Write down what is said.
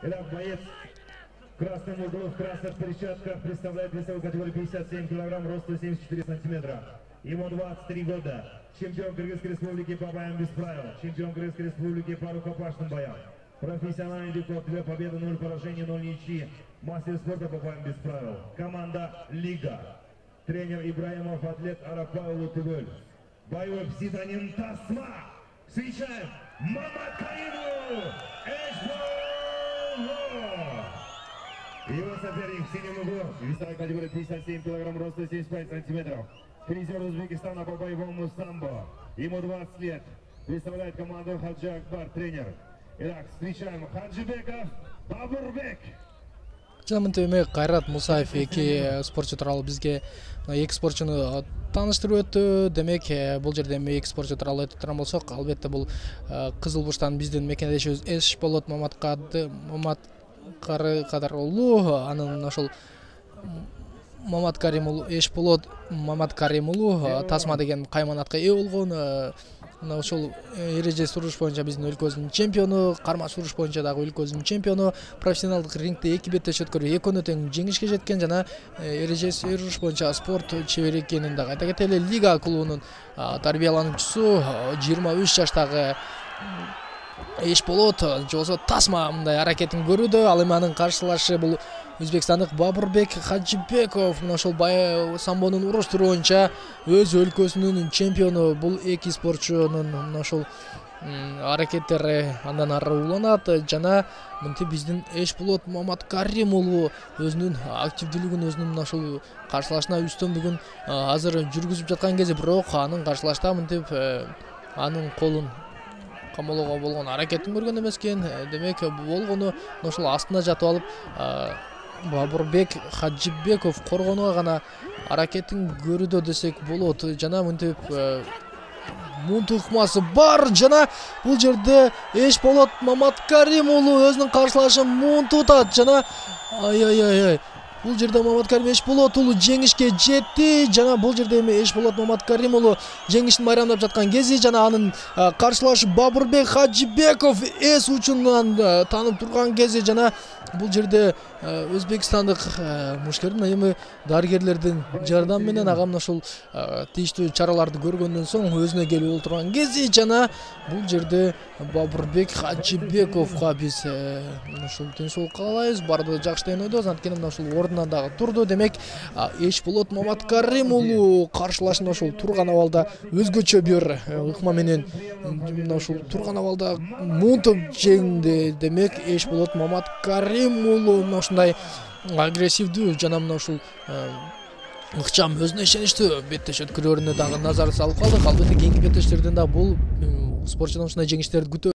Итак, боец красный мундир, в красных перчатках представляет весовую категорию 57 килограмм, роста 74 сантиметра. Ему 23 года. Чемпион Кыргызской республики по боям без правил. Чемпион Кыргызской республики по рукопашным боям. Профессиональный рекорд, 2 победы, 0 поражений, 0 ничьи. Мастер спорта по боям без правил. Команда «Лига». Тренер Ибраимов, атлет Арапаулу Тыгөл. Боевой псевдоним «Тасма». Встречаем Маматкариму Эшболу. Его соперник в синем углу. Весовая категория 57 килограмм, роста 75 сантиметров. Призер Узбекистана по боевому самбо. Ему 20 лет. Представляет команду Хаджи Акбар, тренер. Итак, встречаем Хаджибеков Бабурбек. Жанымын Кайрат Мусаев эки спортчу тууралуу бизге эки спортчуну тааныштырып өттү. Демек, бул жерде эки спортчу тууралуу айтып турган болсок, албетте бул Кызыл Бурчтан биздин мекендешибиз Эшболот Маматкары уулу, анын ошол Маматкарим уулу Эшболот Маматкарим уулу Тасма деген кайманатка ээ болгон. Ошол эреже суруш боюнча биздин өлкөбүздүн чемпиону, карма суруш боюнча дагы өлкөбүздүн чемпиону, профессионалдык рингде эки беттеш өткөрүп экөөнө тең жеңишке жеткен жана эреже суруш боюнча спорт чебери экенин дагы айта кетели. Лига клубунун тарбиялануучусу 23 жаштагы Эшболот же болбосо Тасма мындай аракетин көрүүдө. Ал эми анын каршылашы бул өзбекстандык Бабурбек Хаджибеков. Ошол самбонун уруштуруу боюнча өз өлкөсүнүн чемпиону. Бул эки спортчунун ошол аракеттери андан ары уланат жана мынтип биздин Эшболот Маматкарим уулу өзүнүн активдүүлүгүн өзүнүн ошол каршылашына үстөмдүгүн азыр жүргүзүп жаткан кези, бирок анын каршылашта мынтип анын колун камоолоого болгон аракетин көргөн эмес экен. Демек, болгону ошол астына жатып алып Бабурбек Хаджибеков коргонууга гана аракетин көрүүдө десек болот. Жана мынтип мунт ыкмасы бар жана бул жерде Эшболот Маматкарим уулу өзүнүн каршылашын мунтутат жана бул жерде Маматкарим Эшболот уулу жеңишке жетти жана бул жерде эми Эшболот Маматкарим уулу жеңишин майрамдап жаткан кези жана анын каршылашы Бабурбек Хаджибеков эс учунан таанып турган кези жана бул жерде өзбекстандык мушкердин эми дарыгерлердин жардамы менен агам ошол тийиштүү чараларды көргөндөн соң өзүнө келип олтурган кези жана бул жерде Бабурбек Хаджибековго биз ошол тынччылык каалайбыз, баардыгы жакшы деген ойдобуз. Анткени мына ошол ордунан дагы турду. Демек, Эшболот Маматкарим уулу каршылашын ошол турган абалда өзгөчө бир ыкма менен ошол турган абалда мунтуп жеңди. Демек, Эшболот Маматкарим уулу ушундай агрессивдүү жана мына ушул ыкчам, өзүнө ишеничтүү беттеш өткөрүүнө дагы назар салып калдык. Албетте кийинки беттештерден да бул спортчудан ушундай жеңиштерди күтөбүз.